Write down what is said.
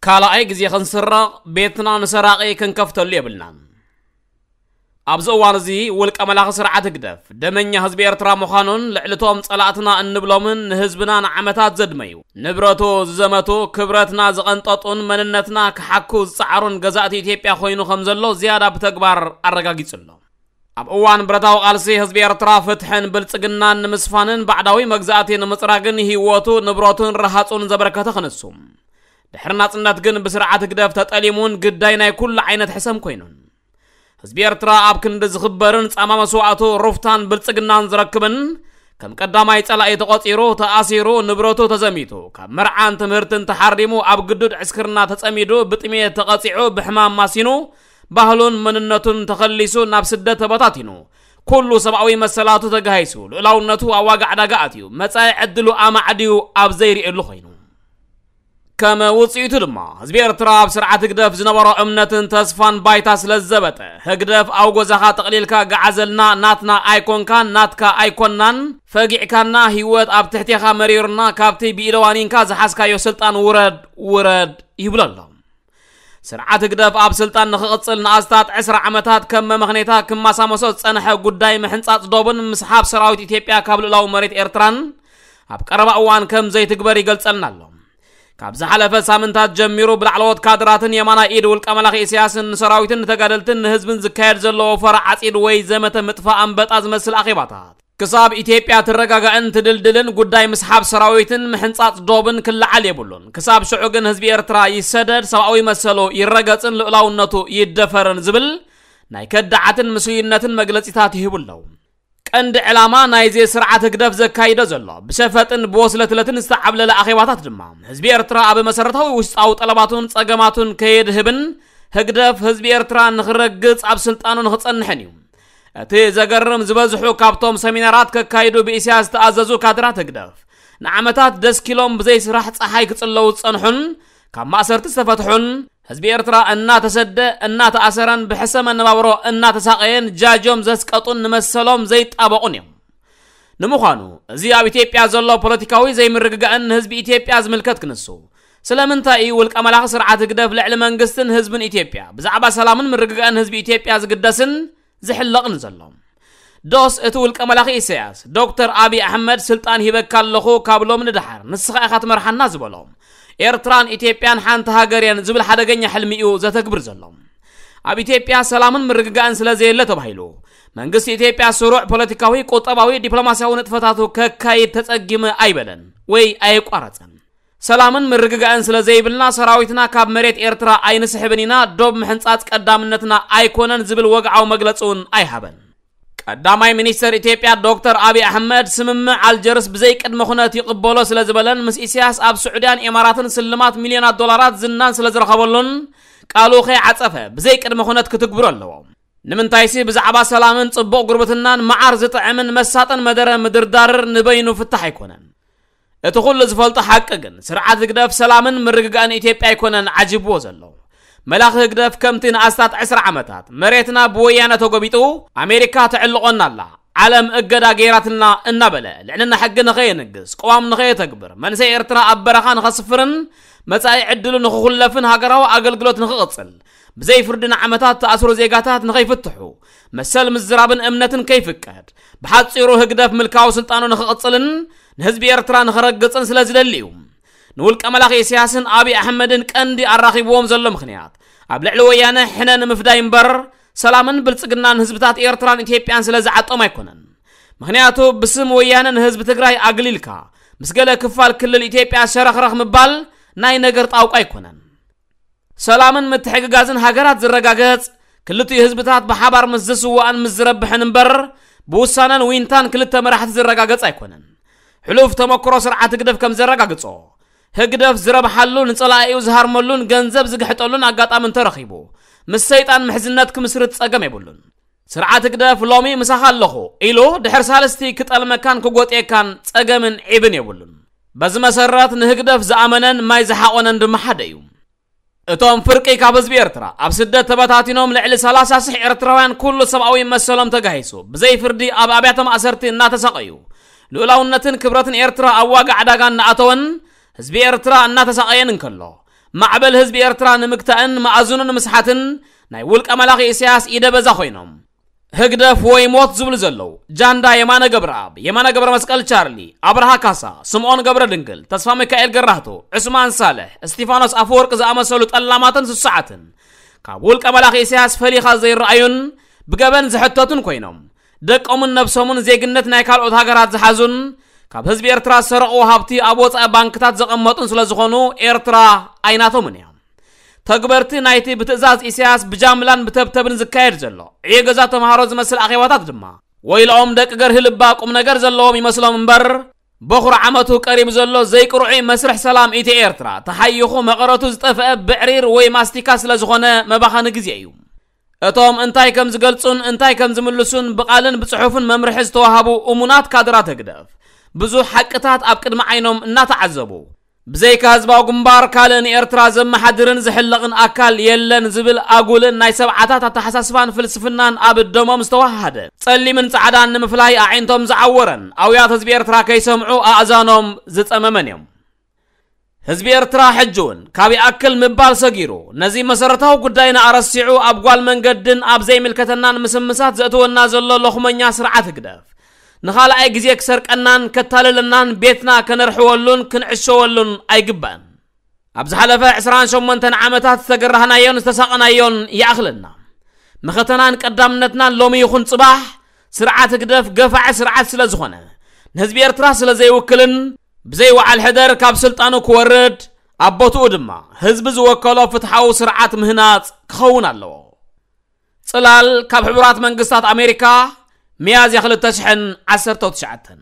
ካልኣይ ግዜ ክንስረቕ ቤትና ንሰራቒ ክንከፍተሉ የብልናን። ኣብዚ እዋን እዚ ውልቀ መላኺ ስርዓት ህግደፍ ደመኛ ህዝቢ ኤርትራ ምዃኑን ልዕሊ እቶም ጸላእትና እንብሎምን ንህዝብና ንዓመታት ዘድመዩ፣ ንብረቱ ዝዘመቱ፣ ክብረትና ዝቐንጠጡን መንነትና ክሓኩ ዝጸዓሩን ገዛእቲ ኢትዮጵያ ኮይኑ ከም ዘሎ ዝያዳ ብተግባር ኣረጋጊጹ ኣሎ። ኣብ እዋን ብረታዊ ቃልሲ ህዝቢ ኤርትራ ፍትሕን ብልጽግናን ንምስፋንን ባዕዳዊ መግዛእቲ ንምጽራግን ህይወቱ፣ ንብረቱን ረሃጹን ዘበርከተ ክንሱ፣ ድሕሪ ናጽነት ግን ብስርዓት ህግደፍ ተጠሊሙን ግዳይ ናይ ኩሉ ዓይነት ሕሰም ኮይኑን። ህዝቢ ኤርትራ ኣብ ክንዲ ዝኽበርን ጻማ መስዋእቱ ሩፍታን ብልጽግናን ዝረክብን፣ ከም ቀዳማይ ጸላኢ ተቖጺሩ፣ ተኣሲሩ፣ ንብረቱ ተዘሚቱ፣ ካብ መርዓን ትምህርትን ተሓሪሙ፣ ኣብ ግዱድ ዕስክርና ተጸሚዱ፣ ብጥሜት ተቐጺዑ፣ ብሕማም ማሲኑ፣ ባህሉን መንነቱን ተኸሊሱ፣ ናብ ስደት ተበታቲኑ፣ ኩሉ ሰብኣዊ መሰላቱ ተጋሂሱ፣ ልኡላውነቱ ኣብ ዋጋ ዕዳጋ ኣትዩ፣ መጻኢ ዕድሉ ኣማዕድዩ ኣብ ዘይርእየሉ ኮይኑ። ከም ውጽኢቱ ድማ፣ ህዝቢ ኤርትራ ኣብ ስርዓት ህግደፍ ዝነበሮ እምነትን ተስፋን ባይታ ስለ ዝዘበጠ፣ ህግደፍ ኣብ ጎዛኻ ጠቕሊልካ ገዓዘልና፣ ናትና ኣይኮንካን፣ ናትካ ኣይኮናን፣ ፈጊዕካና፣ ህይወት ኣብ ትሕቴኻ መሪሩና፣ ካብቲ ብኢደዋኒንካ ዝሓዝካዮ ስልጣን ውረድ፣ ውረድ ይብሎ ኣሎ። ስርዓት ህግደፍ ኣብ ስልጣን ንኽቕጽል ንኣስታት ዕስራ ዓመታት ከም መመኽኔታ ክማሳመሶ ዝጸንሐ ጉዳይ ምሕንጻጽ ዶብን ምስሓብ ሰራዊት ኢትዮጵያ ካብ ልኡላዊ መሬት ኤርትራን ኣብ ቀረባ እዋን ከም ዘይትግበር ይገልጸልና ኣሎ። ካብ ዝሓለፈ ሳምንታት ጀሚሩ ብላዕለዎት ካድራትን የማናይ ኢድ ውልቀ መላኺ ኢሳያስን ንሰራዊትን ንተጋደልትን ንህዝብን ዝካየድ ዘሎ ወፈራ ዓጺድ ወይ ዘመተ ምጥፋእ ኣንበጣ ዝመስል ኣኼባታት ክሳብ ኢትዮጵያ ትረጋጋእን ትድልድልን ጉዳይ ምስሓብ ሰራዊትን ምሕንጻጽ ዶብን ክለዓል የብሉን። ክሳብ ሽዑ ግን ህዝቢ ኤርትራ ይሰደድ፣ ሰብኣዊ መሰሉ ይረገጽን ልኡላውነቱ ይደፈርን ዝብል ናይ ከዳዓትን ምስሉይነትን መግለጺታት ይህቡ ኣለዉ። ቀንዲ ዕላማ ናይዚ ስርዓት ህግደፍ ዘካይዶ ዘሎ ብሸፈጥን ብወስለትለትን ዝተዓብለለ ኣኼባታት ድማ፣ ህዝቢ ኤርትራ ኣብ መሰረታዊ ውሽጣዊ ጠለባቱን ጸገማቱን ከየድህብን፣ ህግደፍ ህዝቢ ኤርትራ ንኽረግጽ ኣብ ስልጣኑ ንኽጸንሕን እዩ። እቲ ዘገርም፣ ዝበዝሑ ካብቶም ሰሚናራት ከካይዱ ብኢሳያስ ዝተኣዘዙ ካድራት ህግደፍ፣ ንዓመታት ደስኪሎም ብዘይ ስራሕ ጸሓይ ክጽለዉ ዝጸንሑን፣ ካብ ማእሰርቲ ዝተፈትሑን፣ ህዝቢ ኤርትራ እናተሰደ፣ እናተኣሰረን ብሕሰ መነባብሮ እናተሳቐየን ጃጆም ዘስቀጡን ንመሰሎም ዘይጣበቑን እዮም። ንምዃኑ፣ እዚ ኣብ ኢትዮጵያ ዘሎ ፖለቲካዊ ዘይምርግጋእን ንህዝቢ ኢትዮጵያ ዝምልከት ክንሱ፣ ስለምንታይ እዩ ውልቀ መላኺ ስርዓት ህግደፍ ልዕሊ መንግስትን ህዝብን ኢትዮጵያ፣ ብዛዕባ ሰላምን ምርግጋእን ህዝቢ ኢትዮጵያ ዝግደስን ዝሕለቕን ዘሎ? ዶስ እቲ ውልቀ መላኺ ኢሳያስ፣ ዶክተር ኣብይ ኣሕመድ ስልጣን ሂበካ ኣለኹ ካብ ሎሚ ንደሓር ንስኻ ኢኻ ትመርሓና ዝበሎ፣ ኤርትራን ኢትዮጵያን ሓንቲ ሃገር እየን ዝብል ሓደገኛ ሕልሚ እዩ ዘተግብር ዘሎ? ኣብ ኢትዮጵያ ሰላምን ምርግጋእን ስለ ዘየለ ተባሂሉ፣ መንግስቲ ኢትዮጵያ ስሩዕ ፖለቲካዊ፣ ቁጠባዊ፣ ዲፕሎማስያዊ ንጥፈታቱ ከካይድ ተጸጊመ ኣይበለን ወይ ኣየቋረጸን። ሰላምን ምርግጋእን ስለ ዘይብልና ሰራዊትና ካብ መሬት ኤርትራ ኣይንስሕብን ኢና፣ ዶብ ምሕንጻጽ ቀዳምነትና ኣይኮነን ዝብል ወግዓዊ መግለጺ እውን ኣይሃበን። ቀዳማይ ሚኒስተር ኢትዮጵያ ዶክተር ኣብይ ኣሕመድ፣ ስምምዕ ኣልጀርስ ብዘይ ቅድመ ኩነት ይቕበሎ ስለ ዝበለን ምስ ኢሳያስ ኣብ ስዑድያን ኤማራትን ስልማት ሚልዮናት ዶላራት ዝናን ስለ ዝረኸበሉን ቃሉ ከይዓጸፈ ብዘይ ቅድመ ኩነት ክትግብሮ ኣለዎ። ንምንታይሲ ብዛዕባ ሰላምን ጽቡቕ ጉርብትናን መዓር ዝጥዕምን መሳጥን መደረ ምድርዳር ንበይኑ ፍታሕ ኣይኮነን። እቲ ኩሉ ዝፈልጦ ሓቂ ግን ስርዓት ህግደፍ ሰላምን ምርግጋእን ኢትዮጵያ ኣይኮነን ዓጂብዎ ዘሎ። መላኺ ህግደፍ ከምቲ ንኣስታት ዕስራ ዓመታት መሬትና ብወያነ ተጎቢጡ ኣሜሪካ ተዕልቆና ኣላ፣ ዓለም እገዳ ገይራትና እናበለ ልዕልና ሕጊ ንኸየንግስ፣ ቅዋም ንኸየተግብር፣ መንሰይ ኤርትራ ኣብ በረኻ ንኸስፍርን መጻኢ ዕድሉ ንኽኹለፍን ሃገራዊ ኣገልግሎት ንኽቕጽል፣ ብዘይ ፍርዲ ንዓመታት ተኣስሩ ዜጋታት ንኸይፍትሑ፣ መሰል ምዝራብን እምነትን ከይፍቀድ፣ ብሓጺሩ ህግደፍ ምልካዊ ስልጣኑ ንኽቕጽልን ንህዝቢ ኤርትራ ንኽረግጽን ስለ ዝደሊ እዩ። ንውልቀ መላኺ ኢሳያስን ኣብይ ኣሕመድን ቀንዲ ኣራኺብዎም ዘሎ ምኽንያት፣ ኣብ ልዕሊ ወያነ ሕነ ንምፍዳይ እምበር፣ ሰላምን ብልጽግናን ህዝብታት ኤርትራን ኢትዮጵያን ስለ ዝዓጦም ኣይኮነን። ምኽንያቱ፣ ብስም ወያነ ንህዝቢ ትግራይ ኣግሊልካ፣ ምስ ገለ ክፋል ክልል ኢትዮጵያ ሸረኽረኽ ምባል ናይ ነገር ጣውቃ ኣይኮነን። ሰላምን ምትሕግጋዝን ሃገራት ዝረጋገጽ፣ ክልቲኡ ህዝብታት ብሓባር ምስ ዝስዋእን ምስ ዝረብሕን እምበር፣ ብውሳነን ዊንታን ክልተ መራሕቲ ዝረጋገጽ ኣይኮነን። ሕሉፍ ተመክሮ ስርዓት ህግደፍ ከም ዘረጋግጾ፣ ህግደፍ ዝረብሓሉ፣ ንጸላኢኡ ዝሃርመሉን ገንዘብ ዝግሕጠሉን ኣጋጣሚ እንተረኺቡ፣ ምስ ሰይጣን ምሕዝነት ክምስርት ጸገም የብሉን። ስርዓት ህግደፍ ሎሚ ምሳኻ ኣለኹ ኢሉ ድሕሪ ሳልስቲ ክጠልመካን ክጎጥየካን ጸገምን ዒብን የብሉን። በዚ መሰረት ንህግደፍ ዝኣመነን ማይ ዝሓቖነን ድማ ሓደ እዩ። እቶም ፍርቂ ካብ ህዝቢ ኤርትራ ኣብ ስደት ተበታቲኖም ልዕሊ ሰላሳ ሽሕ ኤርትራውያን ኩሉ ሰብኣዊ መሰሎም ተጋሂሱ ብዘይ ፍርዲ ኣብ ኣብያተ ማእሰርቲ እናተሳቐዩ፣ ልኡላውነትን ክብረትን ኤርትራ ኣብ ዋጋ ዕዳጋ እናኣተወን ህዝቢ ኤርትራ እናተሳቐየን እንከሎ፣ ማዕበል ህዝቢ ኤርትራ ንምግታእን መኣዝኑ ንምስሓትን ናይ ውልቀ መላኺ ኢሳያስ ኢደ በዛ ኮይኖም፣ ህግደፍ ወይ ሞት ዝብሉ ዘለዉ ጃንዳ የማነ ገብረኣብ፣ የማነ ገብረ መስቀል ቻርሊ፣ ኣብርሃ ካሳ፣ ስምኦን ገብረ ድንግል፣ ተስፋ ሚካኤል ገራህቱ፣ ዑስማን ሳልሕ፣ እስቲፋኖስ ኣፈወርቂ ዝኣመሰሉ ጠላማትን ስሱዓትን ካብ ውልቀ መላኺ ኢሳያስ ፈሊኻ ዘይረኣዩን ብገበን ዝሕተቱን ኮይኖም፣ ደቆምን ነብሶምን ዜግነት ናይ ካልኦት ሃገራት ዝሓዙን ካብ ህዝቢ ኤርትራ ዝሰረቕዎ ሃብቲ ኣብ ወጻኢ ባንክታት ዘቐመጡን ስለ ዝኾኑ ኤርትራ ኣይናቶምን እያ። ተግበርቲ ናይቲ ብትእዛዝ ኢሳያስ ብጃምላን ብተብተብን ዝካየድ ዘሎ ዕዮ ገዛ ተምሃሮ ዝመስል ኣኼባታት ድማ ወይልኦም ደቂ ገርሂ ልባ ቁም ነገር ዘለዎም ይመስሎም እምበር፣ በኹሪ ዓመቱ ቀሪቡ ዘሎ ዘይቅርዑይ መስርሕ ሰላም ኢትዮ ኤርትራ ተሓይኹ መቐረቱ ዝጠፍአ ብዕሪር ወይ ማስቲካ ስለ ዝኾነ መባኸኒ ግዜ እዩ። እቶም እንታይ ከም ዝገልጹን እንታይ ከም ዝምልሱን ብቓልን ብጽሑፍን መምርሒ ዝተዋሃቡ እሙናት ካድራት ህግደፍ ብዙሕ ሓቅታት ኣብ ቅድሚ ዓይኖም እናተዓዘቡ፣ ብዘይካ ህዝባዊ ግንባር ካልእ ንኤርትራ ዘመሓድርን ዝሕለቕን ኣካል የለን ዝብል ኣጉልን ናይ ሰብዓታት ኣተሓሳስባን ፍልስፍናን ኣብ ደሞም ዝተዋሃደ፣ ጸሊምን ጻዕዳን ንምፍላይ ኣዒንቶም ዝዓወረን ኣውያት ህዝቢ ኤርትራ ከይሰምዑ ኣእዛኖም ዝጸመመን እዮም። ህዝቢ ኤርትራ ሕጂ እውን ካብ ይኣክል ምባል ሰጊሩ፣ ነዚ መሰረታዊ ጉዳይና ኣረሲዑ ኣብ ጓል መንገድን ኣብ ዘይምልከተናን ምስምሳት ዘእትወና ዘሎ ሎኽመኛ ስርዓት ህግደፍ ንኻልኣይ ግዜ ክሰርቀናን ከታልለናን ቤትና ከነርሕወሉን ክንዕሸወሉን ኣይግባእን። ኣብ ዝሓለፈ ዕስራን ሸሞንተን ዓመታት ዝተገራህናዮን ዝተሳቐናዮን ይኣኽለና። መኸተናን ቀዳምነትናን ሎሚ ይኹን ጽባሕ ስርዓት ህግደፍ ገፋዒ ስርዓት ስለ ዝኾነ፣ ንህዝቢ ኤርትራ ስለ ዘይውክልን ብዘይ ወዓል ሕደር ካብ ስልጣኑ ክወርድ፣ ኣብ ቦትኡ ድማ ህዝቢ ዝወከሎ ፍትሓዊ ስርዓት ምህናጽ ክኸውን ኣለዎ። ጽላል ካብ ሕቡራት መንግስታት ኣሜሪካ፣ ሚያዝያ ክልተ ሽሕን ዓሰርተ ትሽዓተን።